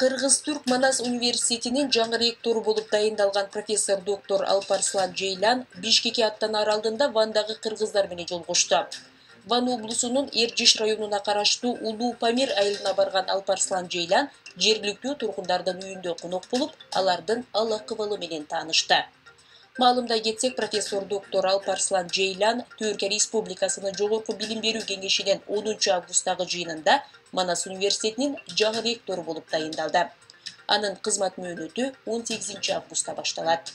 Кыргыз-Түрк Манас университетинин жаңы ректору болуп дайындалган профессор доктор Алпарслан Жейлан Бишкекке аттанаар алдында Вандагы кыргыздар менен жолугушту. Ван облусунун Эржиш районуна караштуу Улуу Памир айылына барган Алпарслан Жейлан жергиликтүү тургундардын үйүндө конок болуп, алардын ал-акыбалы менен таанышты. Маалымдай кетсек, профессор доктор Алпарслан Жейлан Түркия Республикасынын Жогорку билим берүү кеңешинин 10 августтагы жыйынында Манас университетинин жаңы ректору болуп дайындалды. Анын кызмат мөөнөтү 18 августта башталат.